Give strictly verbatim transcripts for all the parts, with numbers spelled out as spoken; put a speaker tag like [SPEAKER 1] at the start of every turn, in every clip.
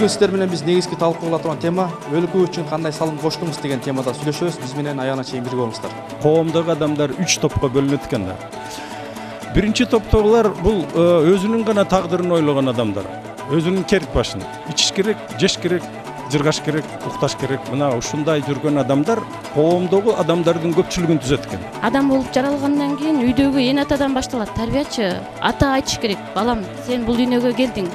[SPEAKER 1] Бүгүн сиздер менен биз негизги талкуулап турган тема өлкө үчүн кандай салым коштуңуз деген темада сүйлөшөбүз. Биз менен аягына чейин бирге болуңуздар.
[SPEAKER 2] Коомдогу адамдар үч топко бөлүнөт экен да. Биринчи топтогулар бул өзүнүн гана тагдырын ойлогон адамдар. Өзүнүн керик башын ичиш керек, жеш керек, жыргаш керек, укташ керек. Мына ушундай жүргөн адамдар коомдогу адамдардын көпчүлүгүн түзөт экен.
[SPEAKER 3] Адам болуп жаралгандан кийин үйдөгү эне атадан башталат. Тарбиячы ата айтыш керек: балам, сен бул дүйнөгө келдиң.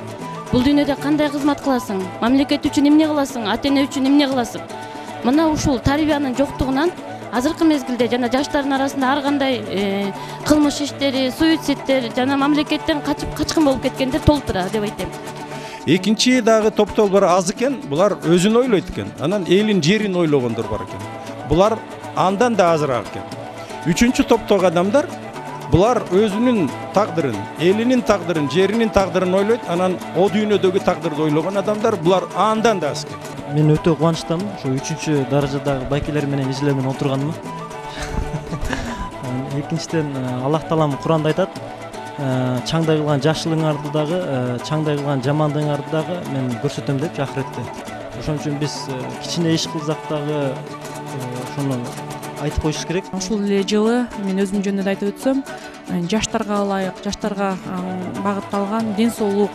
[SPEAKER 3] Бул дүйнөдө кандай кызмат кыласың? Мамлекет үчүн эмне кыласың? Ата-эне үчүн эмне кыласың? Мына ушул тарбиянын жоктугунан азыркы мезгилде жана жаштардын арасында ар кандай кылмыш иштери, суицидтер жана мамлекеттен качып качкын болуп кеткендер толтура деп айтем.
[SPEAKER 2] Экинчи дагы топтогулар аз экен. Булар өзүн ойлойт экен. Анан элин, жерин ойлогондор бар экен. Булар андан да азыраак экен. Үчүнчү топтогу адамдар булар өзүнүн тагдырын, элинин тагдырын, жеринин тагдырын ойлойт. Анан о дүйнөдөгү тагдырды ойлогон адамдар булар андан да аз экен.
[SPEAKER 4] Мен өтө кубанычтамын. Ушу үчүнчү даражадагы байкелер менен изилемин отурганыма. Экинчиден Аллах таалам Куранда айтат: чаңдай кылган жакшылыгыңарды дагы, чаңдай кылган жамандыгыңарды дагы мен көрсөтөм деп акыретте. Ошон үчүн биз кичине иш кылсак дагы ошону айтып коюш керек.
[SPEAKER 5] Ушул эле жылы мен өзүм жөнүндө айтып өтсөм, жаштарга ылайык, жаштарга багытталган ден соолук,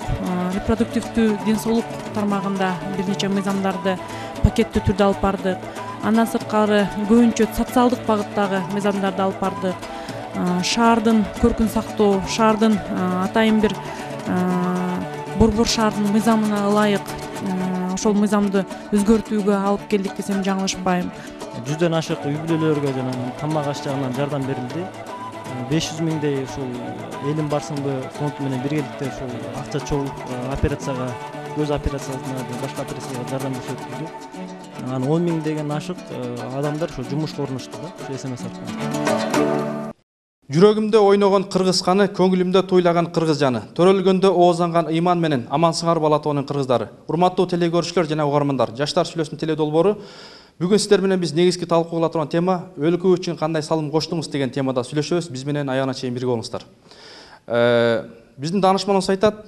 [SPEAKER 5] репродуктивдүү ден соолук тармагында бир нече мыйзамдарды пакеттүү түрдө алып бардык. Андан сырткары көбүнчө социалдык багыттагы мыйзамдарды алып бардык. Шаардын көркүн сактоо, шаардын атайын бир борбор шаардын мыйзамына ылайык ошол мыйзамды өзгөртүүгө алып келдик десем жаңылышпайм.
[SPEAKER 4] Жүздөн ашык үй бүлөлөргө жана тамак аш жагынан жардам берилди. беш жүз миңдей ушул элим барсыңбы фонд менен биргеликте ушул акча чогуу операцияга, көз операциясына, башка операцияга жардам көрсөтүлдү. Анан он миң деген ашык адамдар ушу жумушка орношту да, ушу эс эм эс аркылуу.
[SPEAKER 1] Жүрөгүмдө ойногон кыргыз каны, көңүлүмдө туйлаган кыргыз жаны. Төрөлгөндө оозанган ыйман менен амансыңар Балатоонун кыргыздары. Урматтуу телегөрүүчүлөр жана угармандар, Жаштар сүйлөсүн теле долбоору. Бүгүн сиздер менен биз негизги талкуулап турган тема өлкө үчүн кандай салым коштуңуз деген темада сүйлөшөбүз. Биз менен аягына чейин бирге болуңуздар. Биздин даанышманыбыз айтат: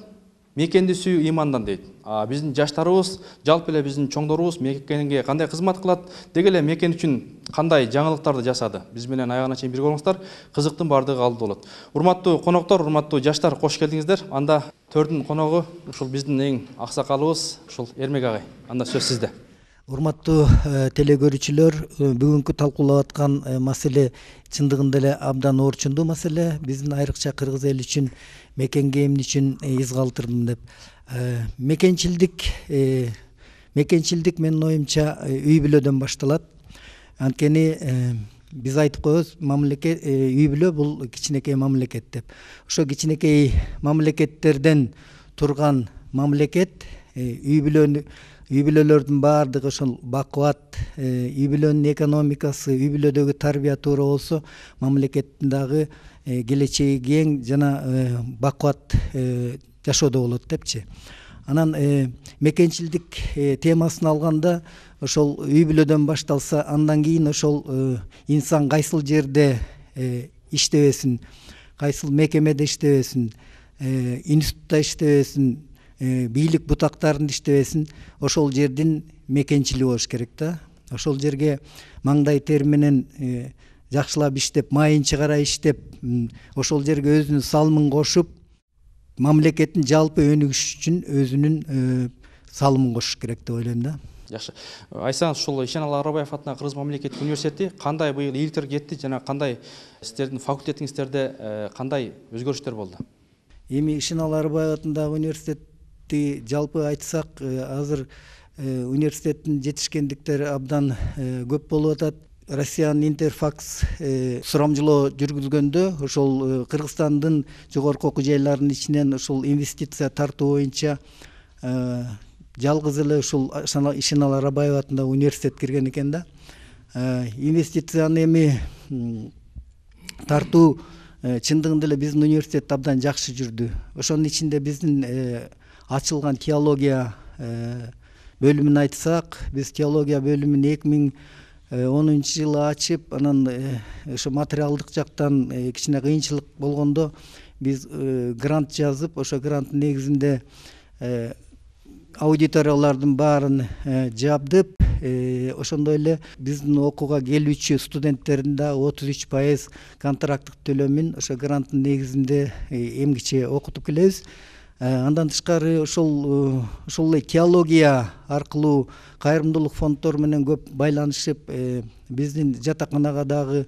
[SPEAKER 1] мекенди сүйүү ыймандан дейт. А биздин жаштарыбыз, жалпы эле биздин чоңдорубуз мекенге кандай кызмат кылат, деги эле мекен үчүн кандай жаңылыктарды жасады. Биз менен аягына чейин бирге болуңуздар. Кызыктын баардыгы алдыда болот. Урматтуу коноктор, урматтуу жаштар, кош келдиңиздер. Анда төрдүн коногу ушул биздин эң аксакалыбыз ушул Эрмек агай. Анда сөз сизде.
[SPEAKER 6] Урматтуу телегөрүүчүлөр, бүгүнкү талкуулап аткан маселе чындыгында эле абдан орчундуу маселе. Биздин айрыкча кыргыз эли үчүн, мекенге эмне үчүн из калтырдым деп. Мекенчилдик, мекенчилдик менин оюмча үй бүлөдөн башталат. Анткени биз айтып коебуз, мамлекет, үй бүлө бул кичинекей мамлекет деп. Ошо кичинекей мамлекеттерден турган мамлекет үй бүлөнү үй бүлөлөрдүн баардыгы ошол бакубат, үй бүлөнүн экономикасы, үй бүлөдөгү тарбия туура болсо, мамлекеттин дагы келечеги кең жана бакубат жашоодо болот депчи. Анан мекенчилдик темасын алганда, ошол үй бүлөдөн башталса, андан кийин ошол инсан кайсыл жерде иштебесин, кайсыл мекемеде иштебесин, институтта иштебесин, бийлик бутактарында иштебесин, ошол жердин мекенчили болуш керек да. Ошол жерге маңдай тер менен жакшылап иштеп, майын чыгара иштеп, ошол жерге өзүнүн салымын кошуп, мамлекеттин жалпы өнүгүшү үчүн өзүнүн салымын кошуш керек деп ойлойм да.
[SPEAKER 1] Жакшы. Айтсаңыз, ушул Ишеналы Арабаев атындагы Кыргыз мамлекеттик университети кандай быйыл ийгиликтер кетти жана кандай сиздердин факультетиңиздерде кандай өзгөрүштөр болду?
[SPEAKER 6] Эми Ишеналы Арабаев атындагы университет жалпы айтсак, азыр университеттин жетишкендиктери абдан көп болуп атат. Россиянын Интерфакс сурамжылоо жүргүзгөндө ошол Кыргызстандын жогорку окуу жайларынын ичинен ушул инвестиция тартуу боюнча жалгыз эле ушул Ишеналы Арабаев атындагы университет кирген экен да. Инвестицияны эми тартуу чындыгында эле биздин университет абдан жакшы жүрдү. Ошонун ичинде биздин ачылган теология бөлүмүн айтсак, биз теология бөлүмүн эки миң онунчу жылы ачып, анан ошо материалдык жактан кичине кыйынчылык болгондо биз грант жазып, ошо гранттын негизинде аудиториялардын баарын жабдып, ошондой эле биздин окууга келүүчү студенттердин да отуз үч пайыз контракттык төлөмүн ошо гранттын негизинде эмгиче окутуп келебиз. Андан тышкары ошол ошол эле теология аркылуу кайрымдуулук фонддор менен көп байланышып, биздин жатаканага дагы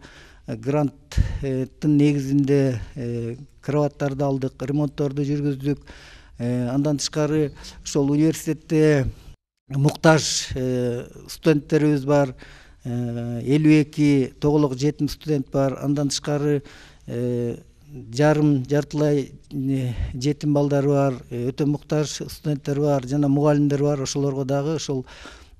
[SPEAKER 6] гранттын негизинде кроваттарды алдык, ремонтторду жүргүздүк. Андан тышкары ошол университетте муктаж студенттерибиз бар, элүү эки тоголок жетим студент бар. Андан тышкары жарым жартылай жетим балдар бар, өтө муктаж студенттер бар жана мугалимдер бар. Ошолорго дагы ошол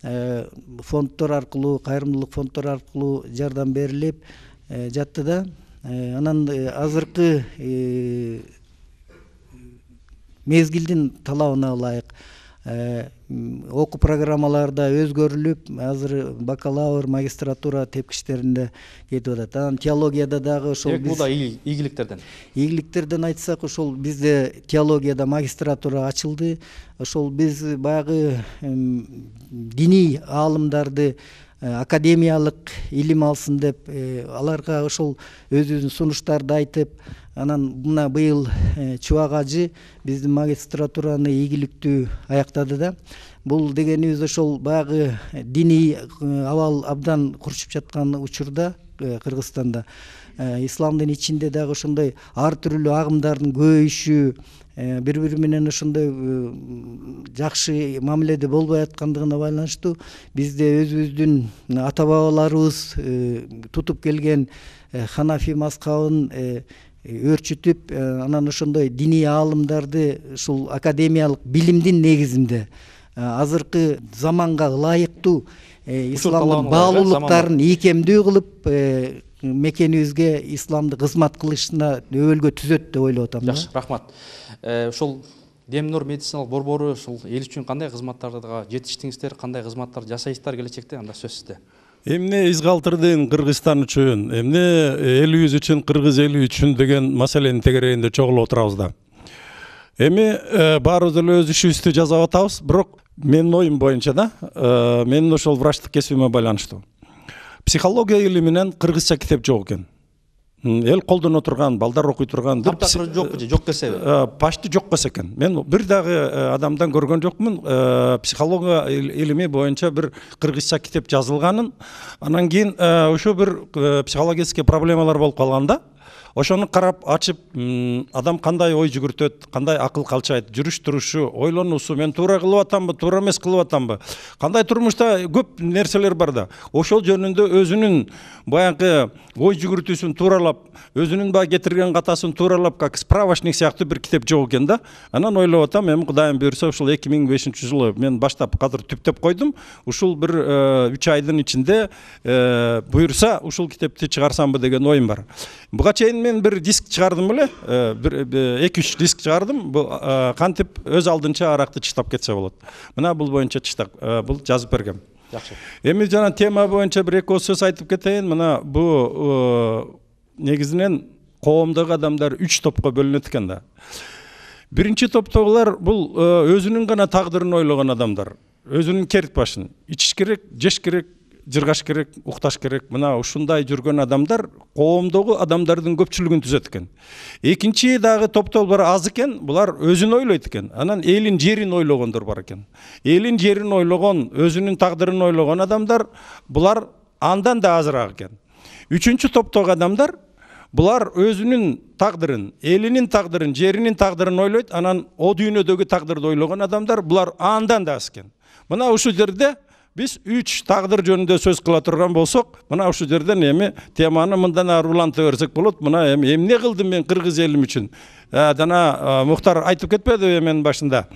[SPEAKER 6] фонддор аркылуу, кайрымдуулук фонддор аркылуу жардам берилип жатты да. Анан азыркы мезгилдин талабына ылайык окуу программалары да өзгөрүлүп, азыр бакалавр, магистратура тепкичтеринде кетип атат. Анан теологияда дагы ошол
[SPEAKER 1] бул да ийгиликтерден.
[SPEAKER 6] Ийгиликтерден айтсак, ошол бизде теологияда магистратура ачылды. Ошол биз баягы диний аалымдарды академиялык илим алсын деп аларга ошол өзүбүздүн сунуштарды айтып, анан мына быйыл Чубак ажы биздин магистратураны ийгиликтүү аяктады да. Бул дегенибиз ошол баягы диний абал абдан курчуп жаткан учурда Кыргызстанда исламдын ичинде дагы ошондой ар түрдүү агымдардын көбөйүшү, бири бири менен ошондой жакшы мамиледе болбой аткандыгына байланыштуу бизде өзүбүздүн ата бабаларыбыз тутуп келген ханафи мазхабын өрчүтүп, анан ошондой диний аалымдарды ушул академиялык билимдин негизинде азыркы заманга ылайыктуу исламдын баалуулуктарын ийкемдүү кылып мекенибизге исламды кызмат кылышына өбөлгө түзөт деп ойлоп атам.
[SPEAKER 1] Жакшы, рахмат. Ушул Демнур медициналык борбору ушул эл үчүн кандай кызматтарга жетиштиңиздер, кандай кызматтар жасайсыздар келечекте, анда сөз сизде.
[SPEAKER 2] Эмне изгалтырдын Кыргызстан үчүн, эмне элибиз үчүн, кыргыз эли үчүн деген маселенин тегерегинде чогулуп отурабыз да. Эми баарыбыз эле өз ишибизди жасап атабыз, бирок менин оюм боюнча да, менин ошол врачтык кесибиме байланыштуу. Психология илиминен кыргызча китеп жок экен. Эл колдоно турган, балдар окуй турган
[SPEAKER 1] бир жокпу же, жок десеби?
[SPEAKER 2] Почти жок болсо экен. Мен бир дагы адамдан көргөн жокмун, психология илими боюнча бир кыргызча китеп жазылганын. Анан кийин ошо бир психологический проблемалар болуп калганда, ошону карап ачып, адам кандай ой жүгүртөт, кандай акыл калчайт, жүрүш турушу, ойлонуусу, мен туура кылып атамбы, туура эмес кылып атамбы, кандай турмушта көп нерселер бар да. Ошол жөнүндө өзүнүн баягы ой жүгүртүүсүн тууралап, өзүнүн баягы кетирген катасын тууралап, как справочник сыяктуу бир китеп жок экен да. Анан ойлоп атам, эми Кудайым буйрса, ушул эки миң бешинчи жылы мен баштап азыр түптөп койдум. Ушул бир үч айдын ичинде буйрса, ушул китепти чыгарсамбы деген оюм бар. Буга чейин мен бир диск чыгардым беле, бир эки үч диск чыгардым. Бул кантип өз алдынча аракты чыштап кетсе болот. Мына бул боюнча чыштак, бул жазып бергем.
[SPEAKER 1] Жакшы.
[SPEAKER 2] Эми жана тема боюнча бир эки сөз айтып кетейин. Мына бу негизинен коомдогу адамдар үч топко бөлүнөт экен да. Биринчи топтогулар бул өзүнүн гана тагдырын ойлогон адамдар. Өзүнүн керт башын ичиш керек, жеш керек, жыргаш керек, укташ керек. Мына ушундай жүргөн адамдар коомдогу адамдардын көпчүлүгүн түзөт экен. Экинчи дагы топтолор аз экен, булар өзүн ойлойт экен. Анан элин жерин ойлогондор бар экен. Элин жерин ойлогон, өзүнүн тагдырын ойлогон адамдар, булар андан да азыраак экен. Үчүнчү топтогу адамдар, булар өзүнүн тагдырын, элинин тагдырын, жеринин тагдырын ойлойт, анан о дүйнөдөгү тагдырды ойлогон адамдар, булар андан да аз экен. Мына ушул жерде биз үч тагдыр жөнүндө сөз кыла турган болсок, мына ушул жерден эми теманы мындан ары уланта берсек болот. Мына эми эмне кылдым мен кыргыз элим үчүн? Жана Мухтар айтып кетпедиби мен башында?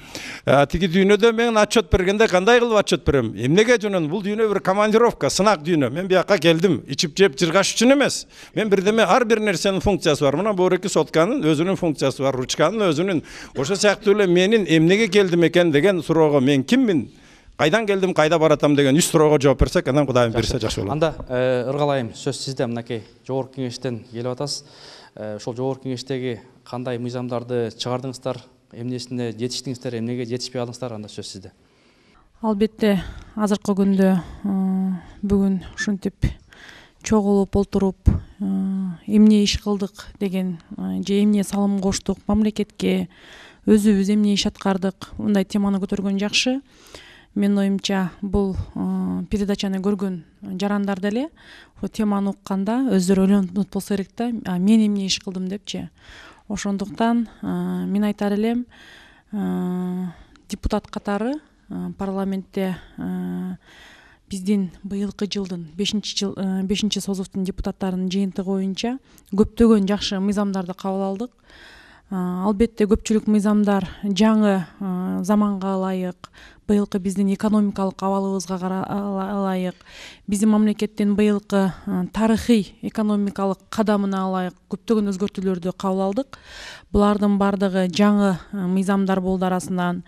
[SPEAKER 2] Тиги дүйнөдө мен отчет бергенде кандай кылып отчет берем? Эмнеге жөнөн? Бул дүйнө бир командировка, сынак дүйнө. Мен бияка келдим, ичип жеп жыргаш үчүн эмес. Мен бирдеме ар бир нерсенин функциясы бар. Мына бу эки сотканын өзүнүн функциясы бар, ручканын өзүнүн. Ошо сыяктуу эле менин эмнеге келдим экен деген суроого мен киммин? Кайдан келдим, кайда баратам деген үч суроого жооп берсек, анан Кудайым берсе жакшы болот.
[SPEAKER 1] Анда ыргалайым, сөз сизде. Мынакей жогорку кеңештен келип атасыз. Ошол жогорку кеңештеги кандай мыйзамдарды чыгардыңыздар, эмнесине жетиштиңиздер, эмнеге жетишпей калдыңыздар, анда сөз сизде.
[SPEAKER 5] Албетте азыркы күндө бүгүн ушинтип чогулуп отуруп эмне иш кылдык деген же эмне салым коштук мамлекетке, өзүбүз эмне иш аткардык, мындай теманы көтөргөн жакшы. Менин оюмча бул передачаны көргөн жарандар деле ушул теманы укканда өздөрү ойлонуп болсо керек да, мен эмне иш кылдым депчи. Ошондуктан мен айтар элем, депутат катары парламентте биздин быйылкы жылдын бешинчи созувдун депутаттарынын жыйынтыгы боюнча көптөгөн жакшы мыйзамдарды кабыл алдык. Албетте көпчүлүк мыйзамдар жаңы заманга ылайык, быйылкы биздин экономикалык абалыбызга ылайык, биздин мамлекеттин быйылкы тарыхый экономикалык кадамына ылайык көптөгөн өзгөртүүлөрдү кабыл алдык. Булардын бардыгы жаңы мыйзамдар болду арасынан.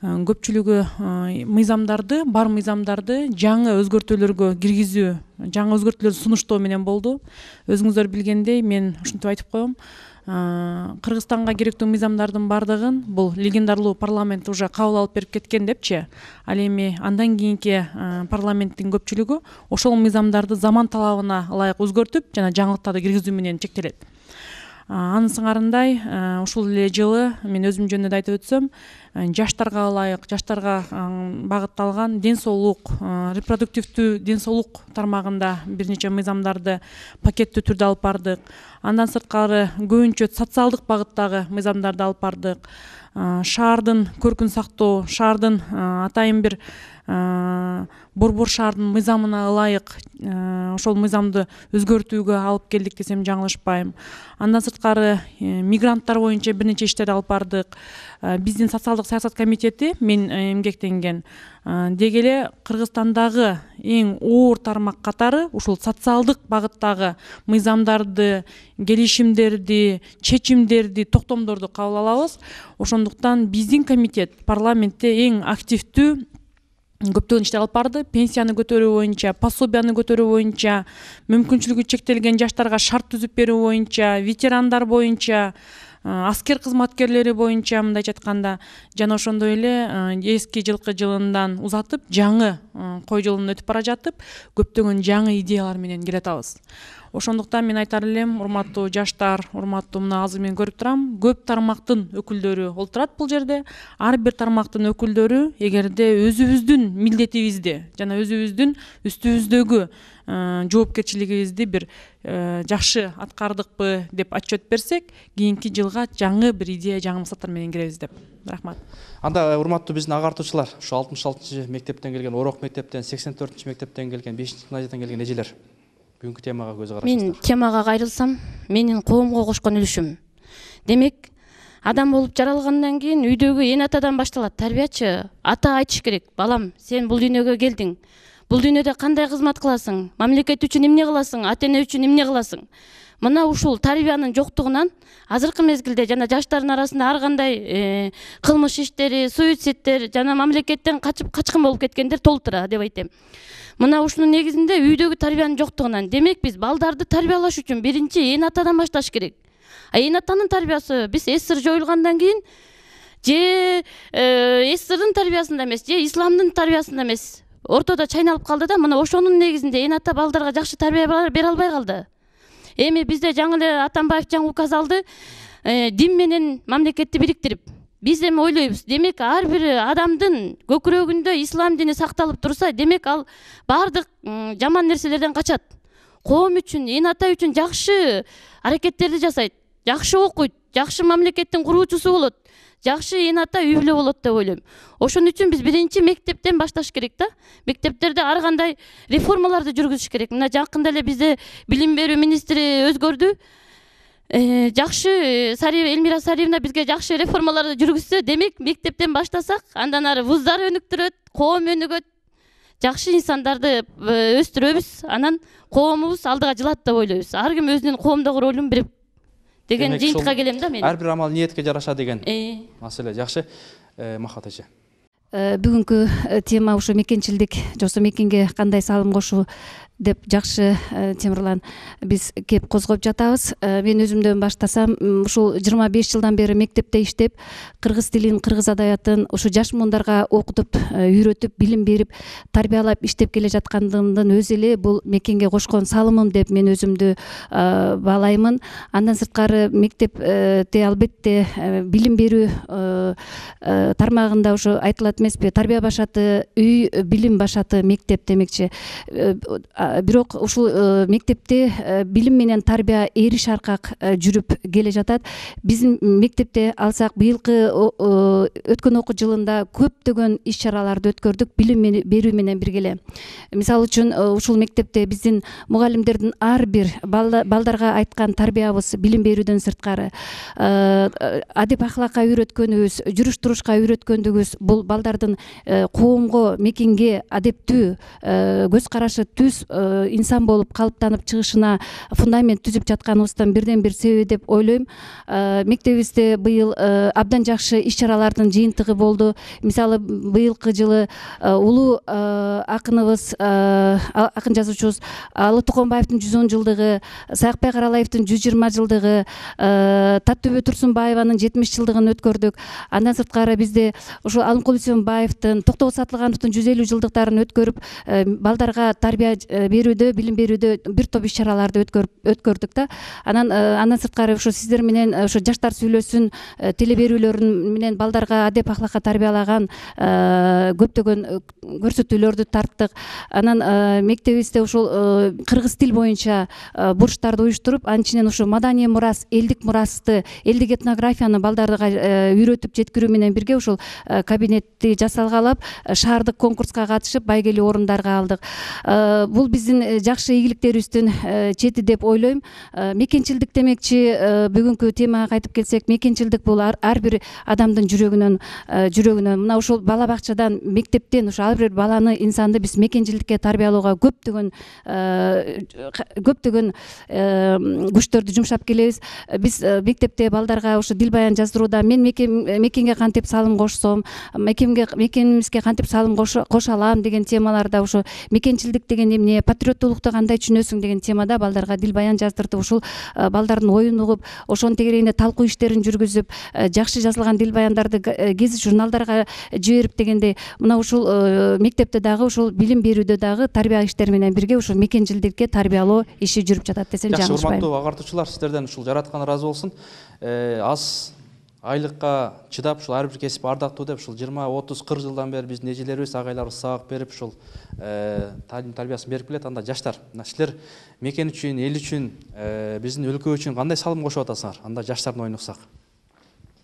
[SPEAKER 5] Көпчүлүгү мыйзамдарды, бар мыйзамдарды жаңы өзгөртүүлөргө киргизүү, жаңы өзгөртүүлөрдү сунуштоо менен болду. Өзүңүздөр билгендей, мен ушинтип айтып коем, Кыргызстанга керектүү мыйзамдардын бардыгын бул легендарлуу парламент уже кабыл алып берип кеткен депчи. Ал эми андан кийинки парламенттин көпчүлүгү ошол мыйзамдарды заман талабына ылайык өзгөртүп жана жаңылыктарды киргизүү менен чектелет. Анын сыңарындай ушул эле жылы мен өзүм жөнүндө да айтып өтсөм, жаштарга ылайык, жаштарга багытталган ден соолук, репродуктивдүү ден соолук тармагында бир нече мыйзамдарды пакеттүү түрдө алып бардык. Андан сырткары көбүнчө социалдык багыттагы мыйзамдарды алып бардык. Шаардын көркүн сактоо, шаардын атайын бир борбор шаардын мыйзамына ылайык ошол мыйзамды өзгөртүүгө алып келдик десем жаңылышпайм. Андан сырткары мигранттар боюнча бир нече иштерди алып бардык. Биздин социалдык саясат комитети мен эмгектенген деги эле Кыргызстандагы эң оор тармак катары ушул социалдык багыттагы мыйзамдарды, келишимдерди, чечимдерди, токтомдорду кабыл алабыз. Ошондуктан биздин комитет парламентте эң активдүү көптөгөн иштер алып барды. Пенсияны көтөрүү боюнча, пособияны көтөрүү боюнча, мүмкүнчүлүгү чектелген жаштарга шарт түзүп берүү боюнча, ветерандар боюнча, аскер кызматкерлери боюнча мындайча айтканда, жана ошондой эле эски жылкы жылындан узатып, жаңы кой жылын өтүп бара жатып, көптөгөн жаңы идеялар менен келе атабыз. Ошондуктан мен айтар элем, урматтуу жаштар, урматтуу мына азыр мен көрүп турам, көп тармактын өкүлдөрү олтурат бул жерде. Ар бир тармактын өкүлдөрү эгерде өзүбүздүн милдетибизди жана өзүбүздүн үстүбүздөгү жоопкерчилигибизди бир жакшы аткардыкпы деп отчет берсек, кийинки жылга жаңы бир идея, жаңы максаттар менен киребиз деп. Рахмат.
[SPEAKER 1] Анда урматтуу биздин агартуучулар, ушу алтымыш алтынчы мектептен келген, Орок мектептен, сексен төртүнчү мектептен келген, бешинчи гимназиядан келген эжелер, бүгүнкү темага көз карашыңыздар.
[SPEAKER 3] Мен темага кайрылсам, менин коомго кошкон үлүшүм. Демек, адам болуп жаралгандан кийин үйдөгү эне атадан башталат. Тарбиячы ата айтыш керек: балам, сен бул дүйнөгө келдиң. Бул дүйнөдө кандай кызмат кыласың? Мамлекет үчүн эмне кыласың? Ата эне үчүн эмне кыласың? Мына ушул тарбиянын жоктугунан азыркы мезгилде жана жаштардын арасында ар кандай кылмыш иштери, суицидтер жана мамлекеттен качып качкын болуп кеткендер толтура деп айтем. Мына ушунун негизинде үйдөгү тарбиянын жоктугунан. Демек биз балдарды тарбиялаш үчүн биринчи эне атадан башташ керек. А эне атанын тарбиясы биз эсир жоюлгандан кийин же эсирдин тарбиясында эмес, же исламдын тарбиясында эмес, ортодо чайналып калды да, мына ошонун негизинде эне ата балдарга жакшы тарбия бере албай калды. Эми бизде жаңы эле Атамбаев жаңы указ алды, дин менен мамлекетти бириктирип. Биз эми ойлойбуз, демек ар бир адамдын көкүрөгүндө ислам дини сакталып турса, демек ал бардык жаман нерселерден качат. Коом үчүн, эне ата үчүн жакшы аракеттерди жасайт, жакшы окуйт, жакшы мамлекеттин куруучусу болот, жакшы эне ата үй бүлө болот деп ойлойм. Ошон үчүн биз биринчи мектептен башташ керек да. Мектептерде ар кандай реформаларды жүргүзүш керек. Мына жакында эле бизде билим берүү министри өзгөрдү. Жакшы Элмира Сариевна бизге жакшы реформаларды жүргүзсө, демек мектептен баштасак, андан ары вуздар өнүктүрөт, коом өнүгөт, жакшы инсандарды өстүрөбүз, анан коомубуз алдыга жылат деп ойлойбуз. Ар ким өзүнүн коомдогу ролун берип деген жыйынтыкка келем да мен.
[SPEAKER 1] Ар бир амал ниетке жараша деген маселе. Жакшы, Махат эже.
[SPEAKER 7] Бүгүнкү тема ушу мекенчилдик, жоксо мекенге кандай салым кошуу деп жакшы Темирлан биз кеп козгоп жатабыз. Мен өзүмдөн баштасам, ушул жыйырма беш жылдан бери мектепте иштеп, кыргыз тилин, кыргыз адаbiятын ушу жаш муундарга окутуп, үйрөтүп, билим берип, тарбиялап иштеп келе жаткандыгымдын өзү эле бул мекенге кошкон салымым деп мен өзүмдү баалаймын. Андан сырткары мектепте албетте билим берүү тармагында ушу айтылат эмеспи, тарбия башаты үй, билим башаты мектеп демекчи. Бирок ушул мектепте билим менен тарбия эриш аркак жүрүп келе жатат. Биздин мектепте алсак, быйылкы өткөн окуу жылында көптөгөн иш-чараларды өткөрдүк билим берүү менен биргеле. Мисалы үчүн ушул мектепте биздин мугалимдердин ар бир балдарга айткан тарбиябыз билим берүүдөн сырткары адеп ахлакка үйрөткөнүбүз, жүрүш турушка үйрөткөндүгүбүз бул балдардын коомго, мекенге адептүү, көз карашы түз инсан болуп калыптанып чыгышына фундамент түзүп жатканыбыздан бирден бир себеби деп ойлойм. Мектебибизде быйыл абдан жакшы иш-чаралардын жыйынтыгы болду. Мисалы быйылкы жылы улуу акыныбыз, акын жазуучубуз Алы Токонбаевдин жүз он жылдыгы, Саякбай Каралаевдин жүз жыйырма жылдыгы, Таттөбө Турсунбаеванын жетимиш жылдыгын өткөрдүк. Андан сырткары бизде ушул Алымкул Үсөнбаевдин, Токтобол Сатылгановдун жүз элүү жылдыктарын өткөрүп, балдарга тарбия берүүдө, билим берүүдө бир топ иш-чараларды өткөрдүк да. Анан андан сырткары ушу сиздер менен ушу жаштар сүйлөсүн теле берүүлөрүн менен балдарга адеп ахлакка тарбиялаган көптөгөн көрсөтүүлөрдү тарттык. Анан мектебибизде ушул кыргыз тил боюнча бурчтарды уюштуруп, анын ичинен ушу маданий мурас, элдик мурасты, элдик этнографияны балдарга үйрөтүп жеткирүү менен бирге ушул кабинетти жасалгалап, шаардык конкурска катышып, байгелүү орундарга алдык. Бул биздин жакшы ийгиликтерибиздин чети деп ойлойм. Мекенчилдик демекчи, бүгүнкү темага кайтып келсек, мекенчилдик бул ар бир адамдын жүрөгүнөн жүрөгүнөн мына ушул бала бакчадан, мектептен ушу ар бир баланы, инсанды биз мекенчилдикке тарбиялоого көптөгөн көптөгөн күчтөрдү жумшап келебиз. Биз мектепте балдарга ушу дил баян жаздырууда мен мекенге кантип салым кошсом, мекенге мекенибизге кантип салым кошо алам деген темаларда, ушу мекенчилдик деген эмне, патриоттуулукту кандай түшүнөсүң деген темада балдарга дил баян жаздырдып, ушул балдардын оюн угуп, ошонун тегерегинде талкуу иштерин жүргүзүп, жакшы жазылган дил баяндарды гезит журналдарга жиберип дегенде, мына ушул мектепте дагы ушул билим берүүдө дагы тарбия иштери менен бирге ушул мекенчилдикке тарбиялоо иши жүрүп жатат десем жаңылышпайм.
[SPEAKER 1] Жакшы, урматтуу агартуучулар, сиздерден ушул жараткан ыраазы болсун. Аз айлыкка чыдап ушул ар бир кесип ардактуу деп ушул жыйырма отуз кырк жылдан бери биздин эжелерибиз, агайларыбыз сабак берип ушул талим тарбиясын берип келет. Анда жаштар, мына силер мекен үчүн, эл үчүн, биздин өлкө үчүн кандай салым кошуп атасыңар? Анда жаштардын оюн уксак.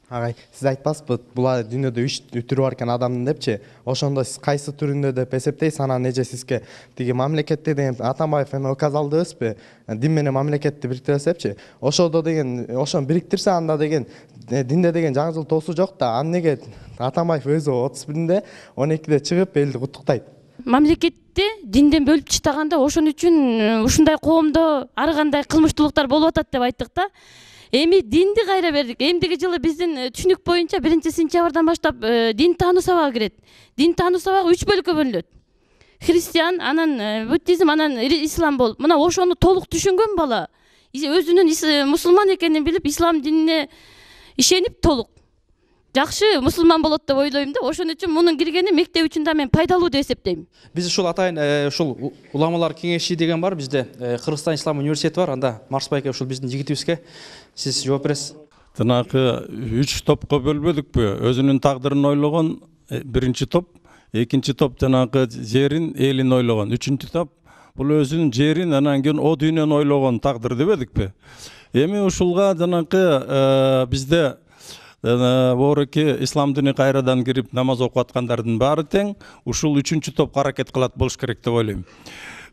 [SPEAKER 8] Агай, сиз айтпаспы, була дүйнөдө үч түрү бар экен адамдын депчи. Ошондо сиз кайсы түрүндө деп эсептейсиз? Анан эже сизге тиги мамлекетте деген Атамбаев эми указалдыбызбы? Дин менен мамлекетти бириктиресепчи. Ошодо деген, ошону бириктирсе анда деген динде деген жаңы жыл тоосу жок да. Аны неге Атамбаев өзү отуз биринде он экиде чыгып элди куттуктайт?
[SPEAKER 3] Мамлекетте динден бөлүп таштаганда ошон үчүн ушундай коомдо ар кандай кылмыштуулуктар болуп атат деп айттык да. Эми динди кайра бердик. Эмдиги жылы биздин түшүнүк боюнча биринчи сентябрдан баштап дин таануу сабагы кирет. Дин таануу сабагы үч бөлүккө бөлүнөт. Христиан, анан буддизм, анан ислам болуп. Мына ошону толук түшүнгөн бала өзүнүн мусулман экенин билип, ислам динине ишенип толук жакшы мусулман болот деп ойлойм да. Ошон үчүн мунун киргени мектеп үчүн да мен пайдалуу деп эсептейм.
[SPEAKER 1] Биз ушул атайын ушул уламалар кеңеши деген бар, бизде Кыргызстан Ислам университети бар. Анда Марс байке ушул биздин жигитибизге сиз жооп бересиз.
[SPEAKER 2] Тынакы үч топко бөлбөдүкпү? Өзүнүн тагдырын ойлогон биринчи топ, экинчи топ жанагы жерин, элин ойлогон, үчүнчү топ бул өзүнүн жерин, анан кийин о дүйнөнү ойлогон тагдыр дебедикпи? Эми ушулга жанагы бизде бооруки ислам дини кайрадан кирип намаз окуп аткандардын баары тең, ушул үчүнчү топко аракет кылат болуш керек деп ойлойм.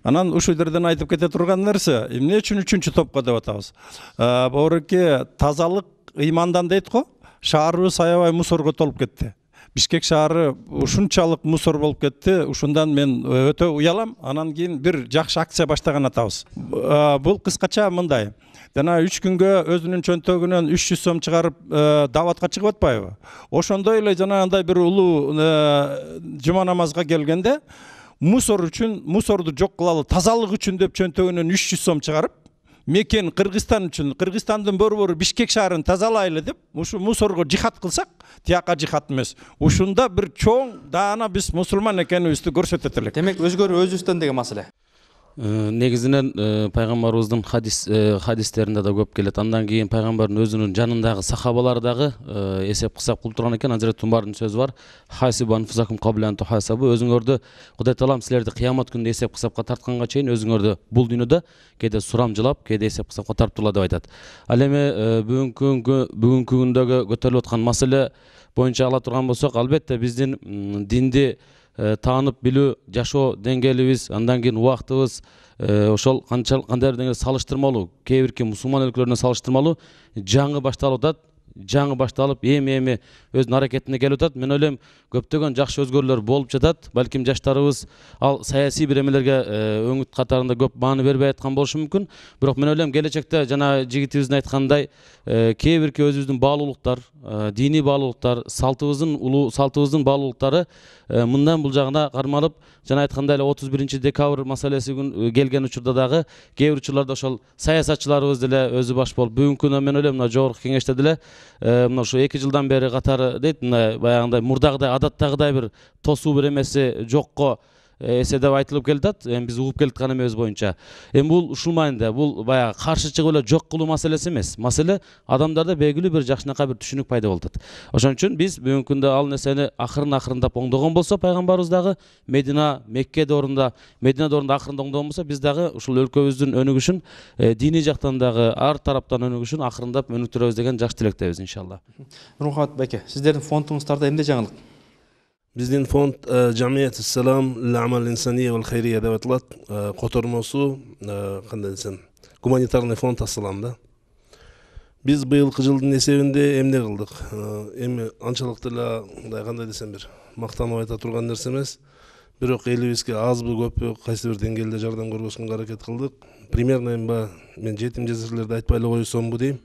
[SPEAKER 2] Анан ушул жерден айтып кете турган нерсе, эмне үчүн үчүнчү топко деп атабыз? Бооруки тазалык ыймандан дейт го, шаарыбыз аябай мусорго толуп кетти. Бишкек шаары ушунчалык мусор болуп кетти, ушундан мен өтө уялам. Анан кийин бир жакшы акция баштаган атабыз. Бул кыскача мындай. Жана үч күнгө өзүнүн чөнтөгүнөн үч жүз сом чыгарып даватка чыгып атпайбы? Ошондой эле жанагындай бир улуу жума намазга келгенде мусор үчүн, мусорду жок кылалы, тазалык үчүн деп чөнтөгүнөн үч жүз сом чыгарып, мекен Кыргызстан үчүн, Кыргызстандын борбору Бишкек шаарын тазалайлы деп, ушу мусорго жихад кылсак, тияка жихад эмес. Ушунда бир чоң даана биз мусулман экенибизди көрсөтөт элек.
[SPEAKER 1] Демек өзгөрүү өзүбүздөн деген маселе.
[SPEAKER 9] Негизинен пайгамбарыбыздын хадис хадистеринде да көп келет. Андан кийин пайгамбардын өзүнүн жанындагы сахабалар дагы эсеп кысап кылып турган экен. Азирет Умардын сөзү бар. Хасибан фузакум каблан тухасабу. Өзүңөрдү Кудай Таалам силерди кыямат күнүндө эсеп кысапка тартканга чейин өзүңөрдү бул дүйнөдө кээде сурамжылап, кээде эсеп кысапка тартып турла деп айтат. Ал эми бүгүнкү бүгүнкү күндөгү көтөрүлүп аткан маселе боюнча ала турган болсок, албетте биздин динди таанып билүү, жашоо деңгээлибиз, андан кийин убактыбыз ошол канча кандай бир деңгээлде салыштырмалуу, кээ бирки мусулман өлкөлөрүнө салыштырмалуу жаңы башталып атат. Жаңы башталып, эми-эми өзүнүн аракетине келип атат. Мен ойлойм, көптөгөн жакшы өзгөрүүлөр болуп жатат. Балким жаштарыбыз ал саясий бир эмелерге өңүт катарында көп маани бербей аткан болушу мүмкүн. Бирок мен ойлойм, келечекте жана жигитибиздин айткандай, кээ бирки өзүбүздүн баалуулуктар, диний баалуулуктар, салтыбыздын улуу салтыбыздын баалуулуктары мындан бул жагына кармалып, жана айткандай эле отуз биринчи декабрь маселеси күн келген учурда дагы кээ бир учурларда ошол саясатчыларыбыз деле өзү баш болуп, бүгүнкү күндө мен ойлойм, мына жогорку кеңеште деле мына ушу эки жылдан бери катары дейт, мына баягындай мурдагыдай адаттагыдай бир тосуу бир эмеси жокко эсе деп айтылып келатат. Эми биз угуп келаткан эмебиз боюнча. Эми бул ушул маанидә, бул баягы каршы чыгып эле жок кылуу маселеси эмес. Маселе адамдарда белгилүү бир жакшынакай бир түшүнүк пайда болуп атат. Ошон үчүн биз бүгүнкү күндө ал нерсени акырын-акырындап оңдогон болсо, пайгамбарыбыз дагы Медина, Меккеде орунда, Мединеде орунда акырында оңдогон болсо, биз дагы ушул өлкөбүздүн өнүгүшүн, диний жактан дагы ар тараптан өнүгүшүн акырындап өнүктүрөбүз деген жакшы тилектебиз иншалла.
[SPEAKER 1] Нурмухаммед байке, сиздердин фондуңуздарда эмне жаңылык?
[SPEAKER 10] Биздин фонд Жамият Салам Ламал Инсания вал Хайрия деп аталат. Котормосу кандай десем, гуманитарный фонд Ассалам да. Биз быйылкы жылдын эсебинде эмне кылдык? Эми анчалык деле мындай кандай десем бир мактанып айта турган нерсе эмес. Бирок элибизге азбы көппү кайсы бир деңгээлде жардам көргөзгөнгө аракет кылдык. Примерно эми мен жетим жесирлерди айтпай эле койсомбу дейм.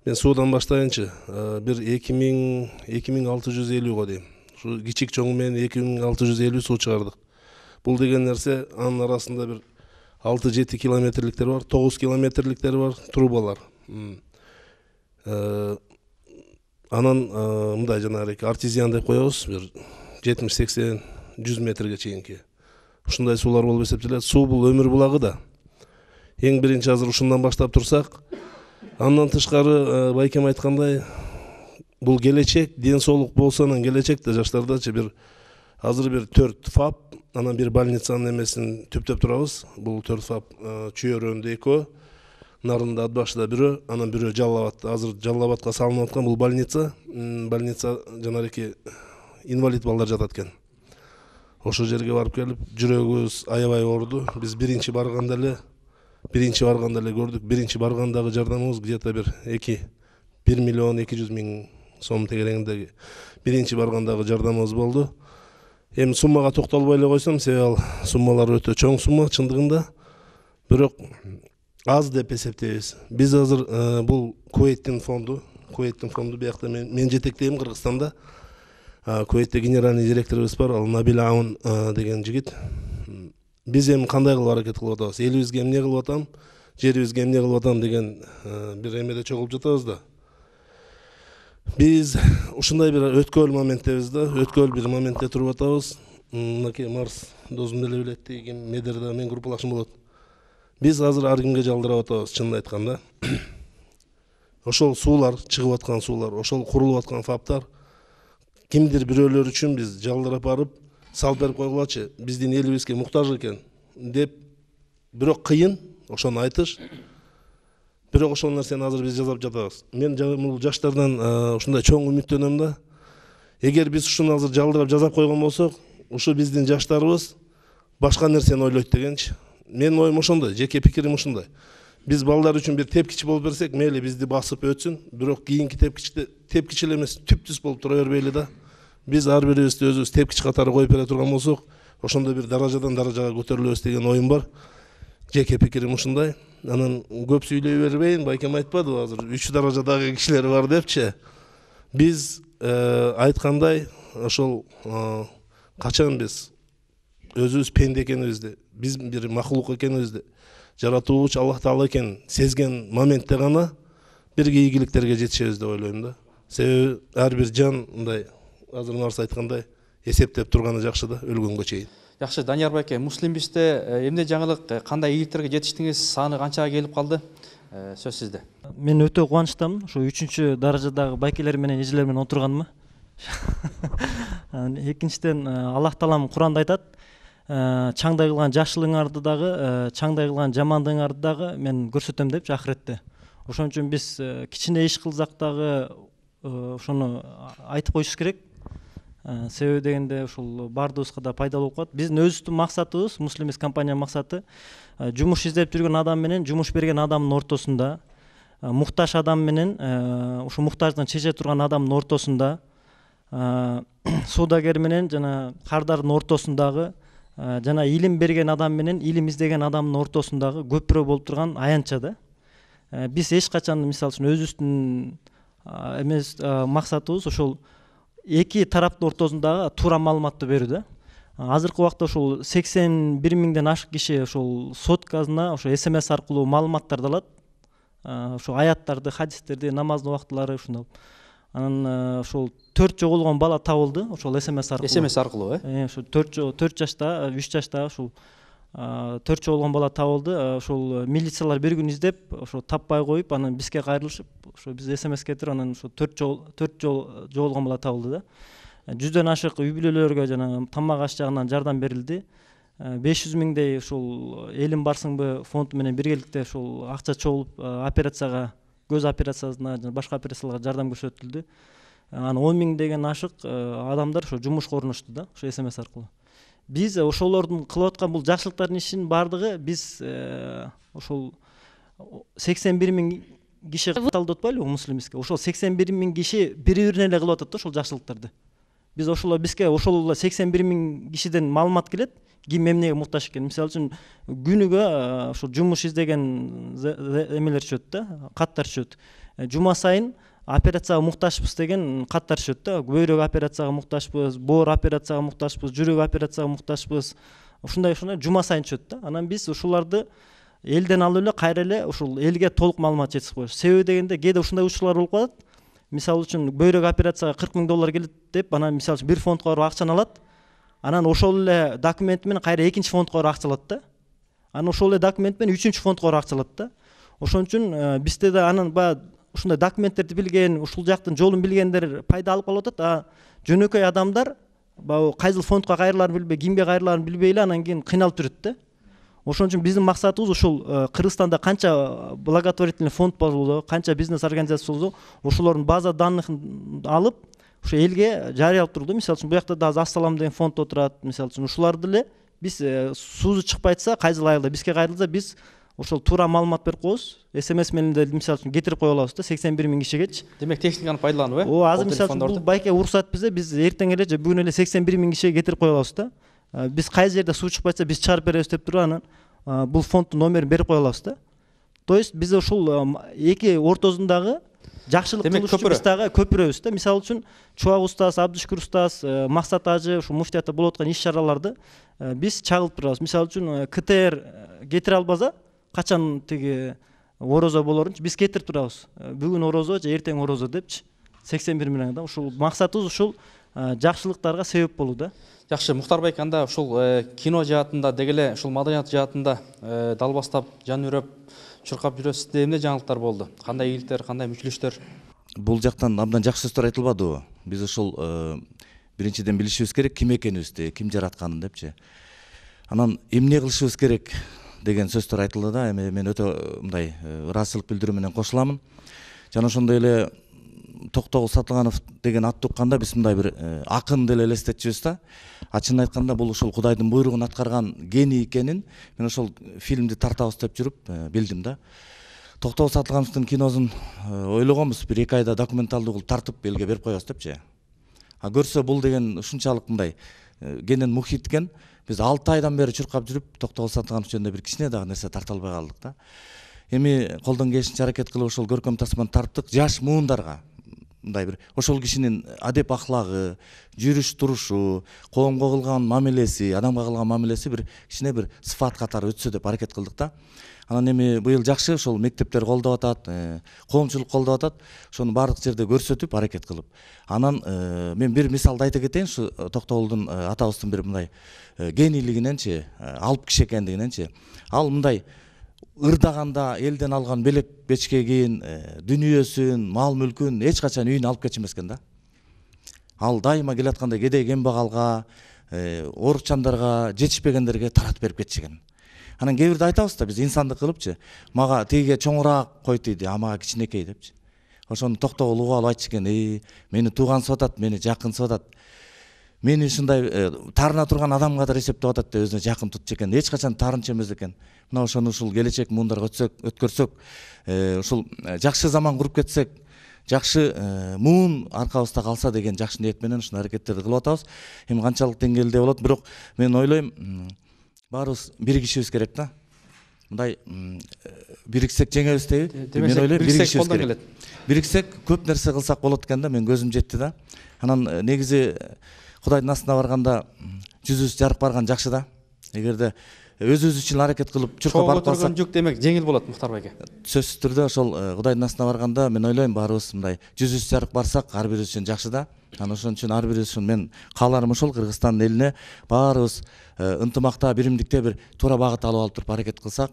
[SPEAKER 10] Мен суудан баштайынчы, бир эки миң алты жүз элүүгө дейм. Şu кичик чоңу менен эки миң алты жүз элүү суу чыгардык. Бул деген нерсе анын арасында бир алты жети километрликтер бар, тогуз километрликтер бар, трубалар. Анан мындай жанагы артезиан деп коебуз, бир жетимиш сексен жүз метрге чейинки. Ушундай суулар болуп эсептелет. Суу бул өмүр булагы да. Эң биринчи азыр ушундан баштап турсак, андан тышкары байкем айткандай, бул келечек, ден соолук болсо анан келечекте жаштардачы бир азыр бир төрт фап, анан бир больницанын эмесин түптөп турабыз. Бул төрт фап Чүйөрөндө экөө, Нарында Атбашыда бирөө, анан бирөө Жалал Абадта. Азыр Жалал Абадка салынып аткан бул больница, больница жанагы инвалид балдар жатат экен. Ошол жерге барып келип, жүрөгүбүз аябай ооруду. Биз биринчи барганда эле, биринчи барганда эле көрдүк. Биринчи баргандагы жардамыбыз где-то бир эки бир миллион эки жүз миң сом тегерегиндеги биринчи баргандагы жардамыбыз болду. Эми суммага токтолбой эле койсом, себеби ал суммалар өтө чоң сумма чындыгында. Бирок аз деп эсептейбиз. Биз азыр бул Кувейттин фонду, Кувейттин фонду биякта мен жетектейм Кыргызстанда. Кувейтте генеральный директорубуз бар, ал Набил Аун деген жигит. Биз эми кандай кылып аракет кылып атабыз? Элибизге эмне кылып атам, жерибизге эмне кылып атам деген бир эмеде чогулуп жатабыз да. Биз ушундай бир өткөл моменттебиз да, өткөл бир моментте туруп атабыз. Мынакей Марс досум деле билет деген Медерде мен группалашым болот. Биз азыр ар кимге жалдырап атабыз, чынын айтканда. Ошол суулар, чыгып аткан суулар, ошол курулуп аткан фаптар кимдир бирөөлөр үчүн биз жалдырап барып, салып берип койгулачы, биздин элибизге муктаж экен деп, бирок кыйын ошону айтыш. Бирок ошол нерсени азыр биз жасап жатабыз. Мен бул жаштардан ушундай чоң үмүттөнөм да. Эгер биз ушуну азыр жалдырап жасап койгон болсок, ушу биздин жаштарыбыз башка нерсени ойлойт дегенчи. Менин оюм ошондой, жеке пикирим ушундай. Биз балдар үчүн бир тепкич болуп берсек, мейли бизди басып өтсүн, бирок кийинки тепкичте тепкич эле эмес, түп-түз болуп тура бербейли да. Биз ар бирибизди өзүбүз тепкич катары коюп бере турган болсок, ошондой бир даражадан даражага көтөрүлөбүз деген оюм бар. Жеке пикирим ушундай. Анан көп сүйлөй бербейин, байкем айтпадыбы азыр үч даражадагы кишилер бар депчи. Биз айткандай, ошол качан биз өзүбүз пенде экенибизди, биз бир макулук экенибизди, жаратуучу Аллах Таала экенин сезген моментте гана бирге ийгиликтерге жетишебиз деп ойлойм да. Себеби ар бир жан мындай азыр нарса айткандай эсептеп турганы жакшы да, өлгөнгө чейин.
[SPEAKER 1] Жакшы, Данияр байке, Муслимбизде эмне жаңылык, кандай ийгиликтерге жетиштиңиз, саны канчага келип калды? Сөз сизде.
[SPEAKER 4] Мен өтө кубанычтамын, ушу үчүнчү даражадагы байкелер менен эжелер менен отурганыма. Экинчиден, Аллах Таалам Куранда айтат, чаңдай кылган жакшылыгыңарды дагы, чаңдай кылган жамандыгыңарды дагы мен көрсөтөм деп акыретте. Ошон үчүн биз кичине иш кылсак дагы ошону айтып коюш керек. Себеби дегенде ушул баардыгыбызга да пайдалуу болуп калат. Биздин өзүбүздүн максатыбыз, Муслимбиз компания максаты жумуш издеп жүргөн адам менен жумуш берген адамдын ортосунда, муктаж адам менен ушу муктаждыгын чече турган адамдын ортосунда, соодагер менен жана кардардын ортосундагы, жана илим берген адам менен илим издеген адамдын ортосундагы көпүрө болуп турган аянтча да. Биз эч качан мисалы үчүн өзүбүздүн эмес максатыбыз ошол эки тараптын ортосундагы туура маалыматты берүү да. Азыркы убакта ушул сексен бир миңден ашык киши ошол соткасына ошо эс эм эс аркылуу маалыматтарды алат. Ошо аяттарды, хадистерди, намаздын убактылары ушундай. Анан ошол төрт жоголгон бала табылды, ошол эс эм эс аркылуу.
[SPEAKER 1] эс эм эс аркылуу, э?
[SPEAKER 4] Ошо төрт жашта, үч жашта ушул төрт жоголгон бала табылды. Ошол милициялар бир күн издеп, ошо таппай коюп, анан бизге кайрылышып, ошо биз эс эм эс кетирип, анан ошо төрт жол жоголгон бала табылды да. жүздөн ашык үй бүлөлөргө жана тамак аш жагынан жардам берилди. беш жүз миңдей ушул элим барсыңбы фонду менен биргеликте ушул акча чогулуп операцияга, көз операциясына жана башка операцияларга жардам көрсөтүлдү. Анан он миңдеген ашык адамдар ошо жумушка орношту да, ошо эс эм эс аркылуу. Биз ошолордун кылып аткан бул жакшылыктардын ишинин баардыгы биз ошол сексен бир миң киши катталды атпайлыбы Муслимбизге? Ошол сексен бир миң киши бири-бирине эле кылып атат да ошол жакшылыктарды. Биз ошол бизге ошол сексен бир миң кишиден маалымат келет, ким эмнеге муктаж экен. Мисалы үчүн күнүгө ошо жумуш издеген эмелер түшөт да, каттар түшөт. Жума сайын операцияга муктажбыз деген каттар түшөт да. Бөйрөк операцияга муктажбыз, боор операцияга муктажбыз, жүрөк операцияга муктажбыз. Ушундай ушундай жума сайын түшөт да. Анан биз ушуларды элден алып эле кайра эле ушул элге толук маалымат жеткизип коебуз. Себеби дегенде кээде ушундай учурлар болуп калат. Мисалы үчүн бөйрөк операцияга кырк миң доллар келет деп, анан мисалы үчүн бир фондко барып акчаны алат. Анан ошол эле документ менен кайра экинчи фондко барып акча алат да. Анан ошол эле документ менен үчүнчү фондко барып акча алат да. Ошон үчүн бизде да анан баягы ушундай документтерди билген, ушул жактын жолун билгендер пайда алып калып атат. А жөнөкөй адамдар баягы кайсыл фондко кайрылаарын билбей, кимге кайрылаарын билбей эле анан кийин кыйналып жүрөт да. Ошон үчүн биздин максатыбыз ушул Кыргызстанда канча благотворительный фонд болду, канча бизнес организация болду, ошолордун база данныхын алып, ошо элге жарыялап турду. Мисалы үчүн буякта да Ассалам деген фонд отурат. Мисалы үчүн ушуларды эле биз суузу чыкпай атса, кайсыл айылда бизге кайрылса, биз ошол туура маалымат берип коебуз. эс эм эс менен деле мисалы үчүн кетирип кое алабыз да, сексен бир миң кишигечи.
[SPEAKER 1] Демек техниканы пайдаланып, э?
[SPEAKER 4] О, азыр мисалы үчүн бул байке уруксат бизде, биз эртең эле же бүгүн эле сексен бир миң кишиге кетирип кое алабыз да. Биз кайсы жерде суу чыкпай атса, биз чыгарып беребиз деп туруп анан бул фонддун номерин берип кое алабыз да. То есть биз ушул эки ортосундагы жакшылык кылуучу биз дагы көпүрөбүз да. Мисалы үчүн Чубак устаз, Абдышкүр устаз, Максат ажы ушу муфтиятта болуп аткан иш-чараларды биз чагылып турабыз. Мисалы үчүн ка тэ эр кетире албаса, качан тиги орозо болорунчу биз кетирип турабыз. Бүгүн орозо же эртең орозо депчи. сексен бир миң адам. Ушул максатыбыз ушул жакшылыктарга себеп болуу да.
[SPEAKER 1] Жакшы, Мухтар байке, анда ушул кино жаатында деги эле ушул маданият жаатында далбастап, жан үрөп, чуркап жүрөсүз. Эмне жаңылыктар болду? Кандай ийгиликтер, кандай мүчүлүштөр?
[SPEAKER 11] Бул жактан абдан жакшы сөздөр айтылбадыбы? Биз ушул биринчиден билишибиз керек ким экенибизди, ким жаратканын депчи. Анан эмне кылышыбыз керек деген сөздөр айтылды да. Эми мен өтө мындай ыраазычылык билдирүү менен кошуламын. Жана ошондой эле Токтогул Сатылганов деген атты укканда биз мындай бир акын деле элестетчүбүз да. Ачыгын айтканда бул ушул Кудайдын буйругун аткарган гений экенин мен ошол фильмди тартабыз деп жүрүп билдим да. Токтогул Сатылгановдун киносун ойлогонбуз, бир эки айда документалдуу кылып тартып элге берип коебуз депчи. А көрсө бул деген ушунчалык мындай кенен мухиткен, биз алты айдан бери чуркап жүрүп Токтогул Сатылганов жөнүндө бир кичине дагы нерсе тарта албай калдык да. Эми колдон келишинче аракет кылып ошол көркөм тасманы тарттык, жаш муундарга мындай бир ошол кишинин адеп аклагы, жүрүш турушу, коомго кылган мамилеси, адамга кылган мамилеси бир кичине бир сыфат катары өтсө деп аракет кылдык да. Анан эми быйыл жакшы ошол мектептер колдоп атат, коомчулук колдоп атат. Ошону баардык жерде көрсөтүп, аракет кылып. Анан мен бир мисалды айта кетейин, ушу Токтогулдун атабыздын бир мындай генийлигиненчи, алып киши экендигиненчи. Ал мындай ырдаганда элден алган белек бечке кийин дүнүйөсүн, мал мүлкүн эч качан үйүнө алып кетчү эмес экен да. Ал дайыма келатканда кедей кембагалга, оорукчандарга, жетишпегендерге таратып берип кетчү экен. Анан кээ бирде айтабыз да, биз инсандык кылыпчы, мага тигиге чоңураак койт дейди, а мага кичинекей депчи. Ошону Токтогул угуп алып айтчу экен, "Эй, мени туугансып атат, мени жакынсып атат. Мени ушундай таарына турган адамгадыр эсептеп атат" деп өзүнө жакын тутчу экен. Эч качан таарынчу эмес экен. Мына ошону ушул келечек муундарга өтсөк, өткөрсөк, ушул жакшы заман куруп кетсек, жакшы муун аркабызда калса деген жакшы ниет менен ушул аракеттерди кылып атабыз. Эми канчалык деңгээлде болот, бирок мен ойлойм, баарыбыз биригишибиз керек да. Мындай бириксек жеңебиз дейби? Мен ойлойм, биригишибиз керек. Бириксек көп нерсе кылсак болот экен да, мен көзүм жетти да. Анан негизи Кудайдын астына барганда жүзүбүз жарык барган жакшы да. Эгерде өзүбүз үчүн аракет кылып чуркап барып калсак,
[SPEAKER 1] көтөргөн жүк демек жеңил болот, Мухтар байке.
[SPEAKER 11] Сөзсүз түрдө ошол Кудайдын астына барганда мен ойлойм, баарыбыз мындай жүзүбүз жарык барсак, ар бирибиз үчүн жакшы да. Анан ошон үчүн ар бирибиз үчүн мен кааларым ушул, Кыргызстандын элине баарыбыз ынтымакта, биримдикте бир туура багыт алып алып туруп аракет кылсак,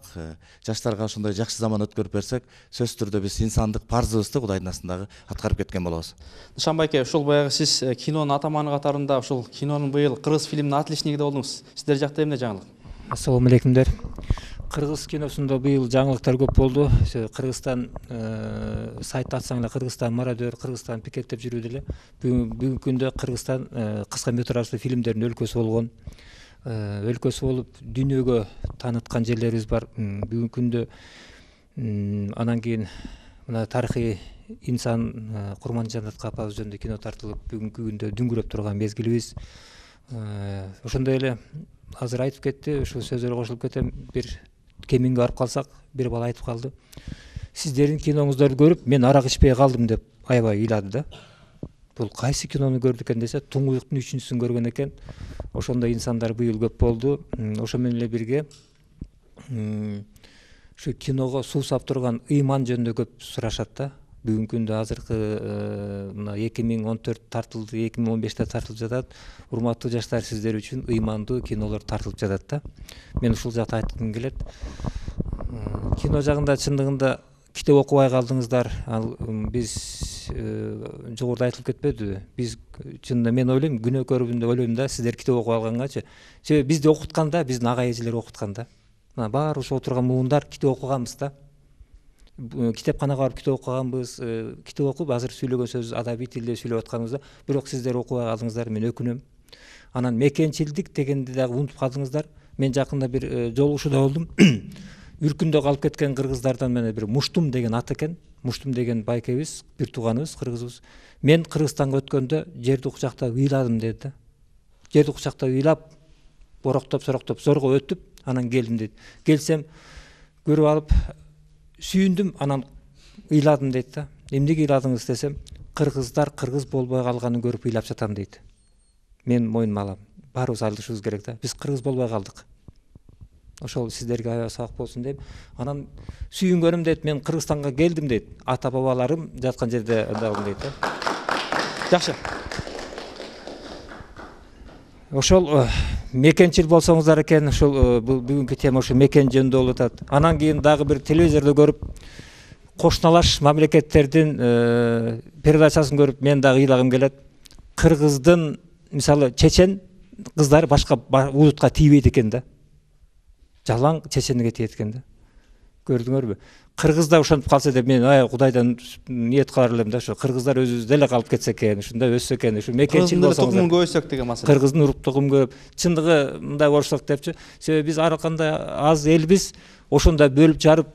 [SPEAKER 11] жаштарга ошондой жакшы заман өткөрүп берсек, сөзсүз түрдө биз инсандык парзыбызды Кудайдын астындагы аткарып кеткен болобуз.
[SPEAKER 1] Нышан байке, ушул баягы сиз кинонун атаманы катарында ушул кинонун быйыл кыргыз фильминин отличнигиде болдуңуз. Сиздер жакта эмне жаңылык?
[SPEAKER 12] Ассалому алейкумдер. Кыргыз киносунда быйыл жаңылыктар көп болду. Кыргызстан сайт ачсаң эле Кыргызстан мародер, Кыргызстан пикет деп жүрүүдө эле. Бүгүнкү күндө Кыргызстан кыска метраждуу фильмдердин өлкөсү болгон. Өлкөсү болуп дүйнөгө тааныткан жерлерибиз бар. Бүгүнкү күндө анан кийин мына тарыхый инсан Курманжанат апабыз жөнүндө кино тартылып, бүгүнкү күндө дүңгүрөп турган мезгилибиз. Ошондой эле азыр айтып кетти, ушул сөздөргө кошулуп кетем. Бир кемиңге барып калсак, бир бала айтып калды. Сиздердин киноңуздарды көрүп, мен арак ичпей калдым деп аябай ыйлады да. Бул кайсы кинону көрдү экен десе, Туңгуюктун үчүнчүсүн көргөн экен. Ошондой инсандар быйыл көп болду. Ошо менен эле бирге ушу киного суусап турган ыйман жөнүндө көп сурашат да. Бүгүнкү күндө азыркы мына эки миң он төрт тартылды, эки миң он беште тартылып жатат. Урматтуу жаштар, сиздер үчүн ыймандуу кинолор тартылып жатат да. Мен ушул жакта айткым келет. Кино жагында чындыгында китеп окубай калдыңыздар. Ал биз жогоруда айтылып кетпедиби? Биз чынында мен ойлойм, күнөөкөрүмүн деп ойлойм да, сиздер китеп окуп алгангачы. Себеби бизди окутканда, биздин ага эжелер окутканда. Мына баары ушул отурган муундар китеп окуганбыз да. Китепканага барып китеп окуганбыз, китеп окуп азыр сүйлөгөн сөз адабий тилде сүйлөп атканыбызда, бирок сиздер окубай калдыңыздар, мен өкүнөм. Анан мекенчилдик дегенди дагы унутуп калдыңыздар. Мен жакында бир жолугушууда болдум. Үркүндө калып кеткен кыргыздардан менен бир Муштум деген ат экен. Муштум деген байкебиз, бир тууганыбыз, кыргызыбыз. Мен Кыргызстанга өткөндө жерди кучактап ыйладым деди да. Жерди кучактап ыйлап, бороктоп, сороктоп, зорго өтүп, анан келдим дейт. Келсем, көрүп алып сүйүндүм, анан ыйладым дейт да. Эмнеге ыйладыңыз десем, кыргыздар кыргыз болбой калганын көрүп ыйлап жатам дейт. Мен мойнума алам. Баарыбыз алышыбыз керек да. Биз кыргыз болбой калдык. Ошол сиздерге аябай сабак болсун деп. Анан сүйүнгөнүм дейт, мен Кыргызстанга келдим дейт. Ата бабаларым жаткан жерде андагым дейт да.
[SPEAKER 1] Жакшы.
[SPEAKER 12] Ошол мекенчил болсоңуздар экен, ошол бүгүнкү тема ошо мекен жөнүндө болуп атат. Анан кийин дагы бир телевизордо көрүп, кошуналаш мамлекеттердин передачасын көрүп, мен дагы ыйлагым келет. Кыргыздын, мисалы, чечен кыздары башка улутка тийбейт экен да. Жалаң чеченге тиет экен да. Көрдүңөрбү? Кыргызда ошентип калса деп мен ай Кудайдан ниет кылар элем да, ошо кыргыздар өзүбүздө эле калып кетсе экен, ушунда өссө экен, ушу мекенчил болсоңуздар.
[SPEAKER 1] Кыргыздын көбөйсөк деген маселе.
[SPEAKER 12] Кыргыздын урук тугум көп. Чындыгы мындай болсок депчи. Себеби биз ар кандай аз элбиз, ошондо бөлүп жарып,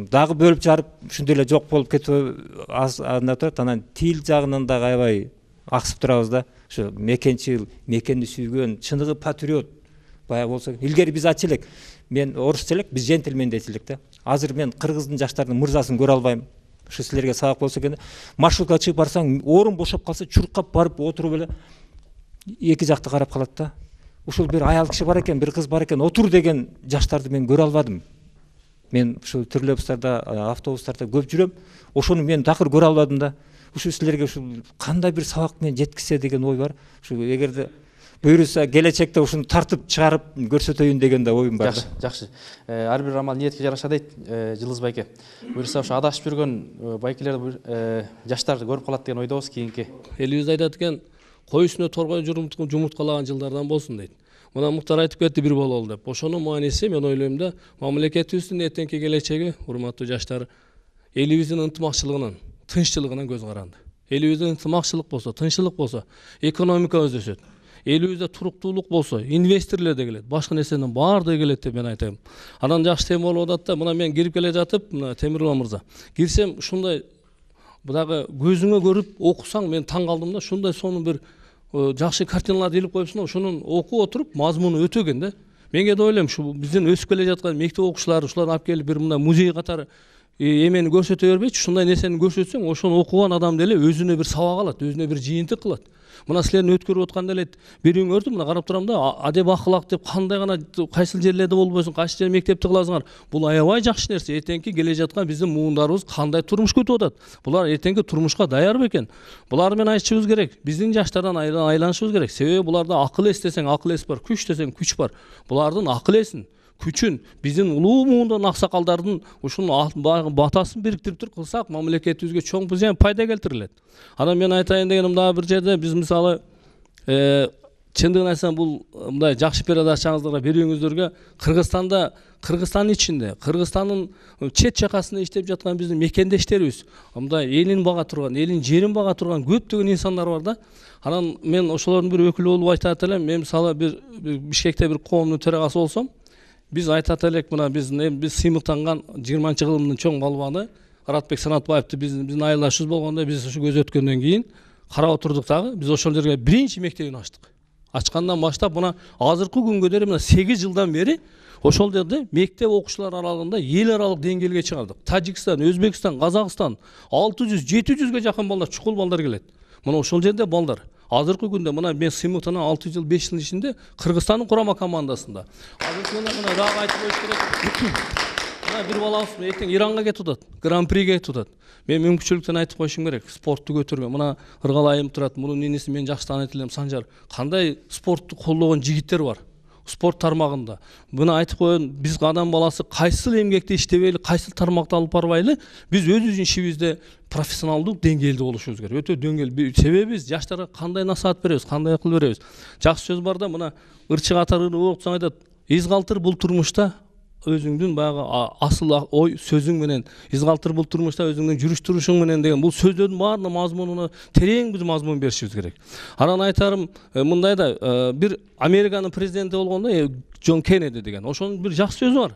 [SPEAKER 12] дагы бөлүп жарып, ушундай эле жок болуп кетип аз анда турат. Анан тил жагынан дагы аябай аксып турабыз да. Ошо мекенчил, мекенди сүйгөн, чындыгы патриот бая болсо. Илгери биз ачы элек. Мен орусча элек, биз жентилмен дейт элек да. Азыр мен кыргыздын жаштарынын мырзасын көрө албайм. ушу силерге сабак болсо экен. Маршрутка чыгып барсаң, орун бошоп калса, чуркап барып отуруп эле эки жакты карап калат да. Ушул бир аял киши бар экен, бир кыз бар экен, отур деген жаштарды мен көрө албадым. Мен ушул троллейбустарда, автобустарда көп жүрөм. Ошону мен такыр көрө албадым да. Ушул силерге ушул кандай бир сабак менен жеткизсе деген ой бар. Ушул эгерде буйруса келечекте ушуну тартып чыгарып көрсөтөйүн деген да оюм бар.
[SPEAKER 1] Жакшы, жакшы. Ар бир амал ниетке жараша дейт Жылыз байке. Буюрса ошо адашып жүргөн байкелерди, жаштарды көрүп калат деген ойдобуз кийинки.
[SPEAKER 13] Элибиз айтат экен, кой үстүнө торгой жумурткалаган жылдардан болсун дейт. Мына Муктар айтып кетти бир бололу деп. Ошонун мааниси мен ойлойм да, мамлекетибиздин эртеңки келечеги, урматтуу жаштар, элибиздин ынтымакчылыгынан, тынччылыгынан көз каранды. Элибизде ынтымакчылык болсо, тынччылык болсо, экономика өсөт. Элибизде туруктуулук болсо, инвесторлор да келет, башка нерсенин баардыгы келет деп мен айтайм. Анан жакшы тема болуп атат да, мына мен кирип келе жатып, мына Темирлан мырза, кирсем ушундай дагы көзүңө көрүп окусаң мен таң калдым да, ушундай сонун бир жакшы картиналарды илип коюпсуң, ошонун окуп отуруп мазмуну өтө экен да. Мен кээде ойлойм, ушу биздин өсүп келе жаткан мектеп окуучулары ушуларды алып келип бир мындай музей катары эмени көрсөтө бербейчи, ушундай нерсени көрсөтсөң, ошону окуган адам деле өзүнө бир сабак алат, өзүнө бир жыйынтык кылат. Мына силердин өткөрүп атканда эле бирөөңөрдү мына карап турам да, адеп акылак деп кандай гана кайсыл жерлерде болбосун, кайсы жер мектепти кыласыңар. Бул аябай жакшы нерсе. Эртеңки келе жаткан биздин муундарыбыз кандай турмуш көтүп атат? Булар эртеңки турмушка даяр бекен? Булар менен айтышыбыз керек. Биздин жаштардан айланышыбыз керек. Себеби буларда акыл эс десең акыл эс бар, күч десең күч бар. Булардын акыл эсин, күчүн биздин улуу муундан аксакалдардын ушунун батасын бириктирип туруп кылсак, мамлекетибизге чоң пайда келтирилет. Анан мен айтайын дегеним дагы бир жерде биз мисалы чындыгын айтсам бул мындай жакшы передачаңыздарга берүүңүздөргө Кыргызстанда, Кыргызстандын ичинде, Кыргызстандын чет чакасында иштеп жаткан биздин мекендештерибиз, мындай элин бага турган, элин жерин бага турган көптөгөн инсандар бар да. Анан мен ошолордун бир өкүлү болуп айтат элем, мен мисалы бир Бишкекте бир коомдун төрагасы болсом, биз айтат элек, мына биз биз сыймыктанган жыйырманчы кылымдын чоң балбаны Аратбек Санатбаевди биздин айылдашыбыз болгондо биз ушу көз өткөндөн кийин карап отурдук дагы, биз ошол жерге биринчи мектебин ачтык. Ачкандан баштап мына азыркы күнгө дейин мына сегиз жылдан бери ошол жерде мектеп окуучулар аралыгында эл аралык деңгээлге чыгардык. Тажикстан, Өзбекстан, Казакстан алты жүз жети жүзгө жакын балдар, чукул балдар келет. Мына ошол жерде балдар. Азыркы күндө мына мен сыймыктанан алты жыл беш жылдын ичинде Кыргызстандын курама командасында. Азыркы күндө мына дагы айтып коюш керек. Мына бир балабыз эртең Иранга кетип атат, гран-приге кетип атат. Мен мүмкүнчүлүктөн айтып коюшум керек. Спортту көтөргөн. Мына Ыргалайым турат, мунун иниси мен жакшы тааныйт элем, Санжар. Кандай спортту колдогон жигиттер бар спорт тармагында. Буну айтып коеюн, биз адам баласы кайсыл эмгекти иштебейли, кайсыл тармакты алып барбайлы, биз өзүбүздүн ишибизде профессионалдуу деңгээлде болушубуз керек. Өтө деңгээл. Себеби биз жаштарга кандай насаат беребиз, кандай акыл беребиз. Жакшы сөз бар да, мына ырчы катары окусаң айтат, из калтыр бул турмушта өзүңдүн баягы асыл ой сөзүң менен, из калтыр бул турмушта өзүңдүн жүрүш турушуң менен деген бул сөздөрдүн баарына мазмунуна терең биз мазмун беришибиз керек. Анан айтарым мындай да, бир Американын президенти болгондо Джон Кеннеди деген, ошонун бир жакшы сөзү бар.